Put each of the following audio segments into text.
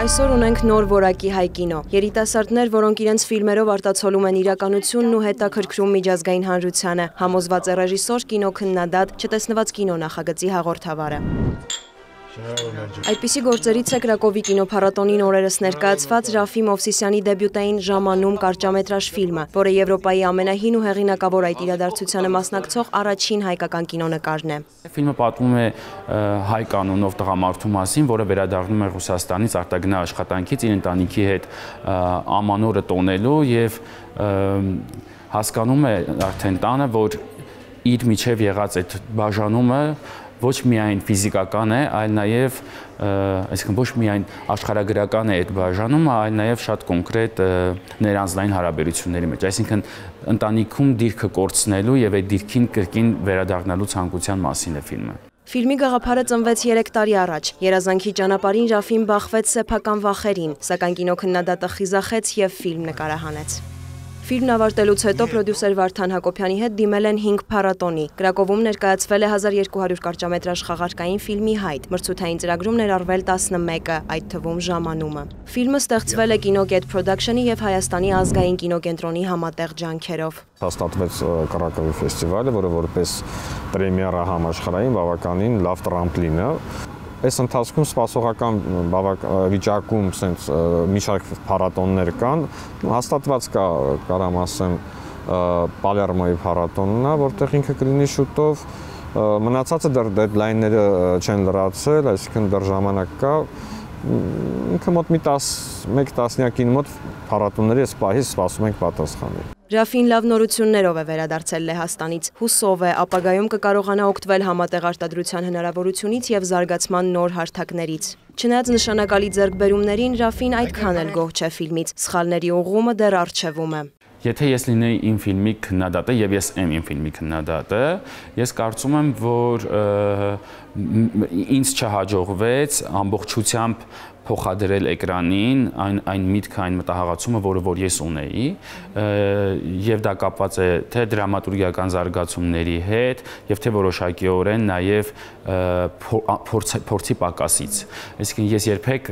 Այսօր ունենք նոր որակի հայ կինո։ Երիտասարդներ, որոնք իրենց ֆիլմերով արտացոլում են իրականությունն ու հետաքրքրում միջազգային հանրությանը, համոզված է ռեժիսոր, կինոքննադատ, չտեսնված կինո նախագծի հաղորդավարը։ Այդպիսի գործերից է Կրակովի կինոփառատոնին օրերս ներկայացված Ռաֆի Մովսիսյանի դեբյուտային «Ժամանում» կարճամետրաժ ֆիլմը, որը Եվրոպայի ամենահին ու հեղինակավոր այդ իրադարձությանը մասնակցող առաջին հայկական կինոնկարն է։ Ֆիլմը պատմում է հայ կանոնով տղամարդու մասին, որը վերադառնում է Ռուսաստանից արտագնա աշխատանքից իր ընտանիքի հետ ամանորը տոնելու եւ հասկանում է արդեն տանը, որ իր միջև եղած այդ բաժանումը ոչ միայն ֆիզիկական է, այլ նաև, այսինքն ոչ միայն աշխարհագրական է այդ բաժանումը, այլ նաև շատ կոնկրետ ներանձնային հարաբերությունների մեջ, այսինքն ընտանիքում դիրքը կորցնելու եւ այդ դիրքին կրկին վերադառնալու ցանկության մասին է ֆիլմը։ Ֆիլմի գաղափարը ծնվեց 3 տարի առաջ։ Երազանքի ճանապարհին Ռաֆին բախվեց սեփական վախերին, սակայն կինոքննադատը խիզախեց եւ ֆիլմ նկարահանեց։ Ֆիլմն ավարտելուց հետո պրոդյուսեր Վարդան Հակոբյանի հետ դիմել են 5 փառատոնի։ Կրակովում ներկայացվել է 1200 կարճամետրաժ խաղարկային ֆիլմի հայտ, մրցութային ծրագրում ներառվել 11-ը, այդ թվում «Ժամանումը»։ Ֆիլմը ստեղծվել է Կինոգետ Production-ի եւ Հայաստանի ազգային կինոկենտրոնի համատեղ ջանքերով։ Հաստատվեց Կրակովի ֆեստիվալը, որը որպես պրեմիերա համաշխարհային բավականին լավ տրամպլին է։ Այս ընթացքում սպասողական վիճակում մի շարք փառատոններ կան, հաստատված կա, կարամ ասեմ, Պալերմոյի փառատոնն է, որտեղ ինքը կլինի շուտով, մնացածը դեռ դեդլայնները չեն լրացել, այսինքն դեռ ժամանակ կա, ինքը մոտ մեկ տասնյակին մոտ փառատոնների այս պահից սպասում ենք պատասխանի։ Ռաֆին լավ նորություններով է վերադարձել Լեհաստանից, հուսով է, ապագայում կկարողանա օգտվել համատեղ արտադրության հնարավորությունից եւ զարգացման նոր հարթակներից։ Չնայած նշանակալի ձեռքբերումներին, Ռաֆին այդքան էլ գոհ չէ ֆիլմից, սխալների ուղղումը դեռ առջևում է։ Եթե ես լինեի իմ ֆիլմի քննադատը եւ ես եմ իմ ֆիլմի քննադատը, ես կարծում եմ, որ ինձ չհաջողվեց ամբողջությամբ փոխադրել էկրանին այն միտքը, այն մտահղացումը, որ ես ունեի, եւ դա կապված է թե դրամատուրգիական զարգացումների հետ, եւ թե որոշակիորեն նաեւ փորձի պակասից։ Այսինքն ես երբեք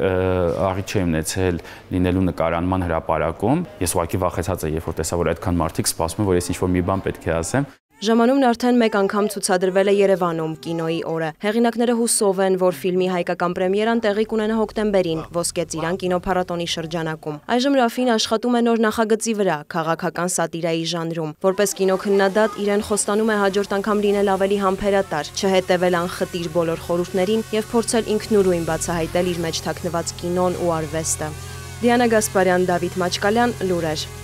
աղիթ չէի ունեցել լինելու նկարանման հրապարակում։ Ես ուղղակի վախեցած եմ, երբ որ տեսա, որ այդքան մարդիկ սպասում են, որ ես ինչ-որ մի բան պետք է ասեմ։ Ժամանումն արդեն մեկ անգամ ցուցադրվել է Երևանում կինոյի օրը։ Հեղինակները հուսով են, որ ֆիլմի հայկական պրեմիերան տեղի կունենա հոկտեմբերին Ոսկե ծիրան կինոփառատոնի շրջանակում։ Այժմ Ռաֆին աշխատում է նոր նախագծի վրա, քաղաքական սատիրայի ժանրում։ Որպես կինոքննադատ իրեն խոստանում է հաջորդ անգամ լինել ավելի համբերատար, չհետևել անխտիր բոլոր խորհուրդներին եւ փորձել ինքնուրույն բացահայտել իր մեջ թաքնված կինոն ու արվեստը։ Դիանա Գասպարյան, Դավիթ Մաչկալյան, Լուրեր։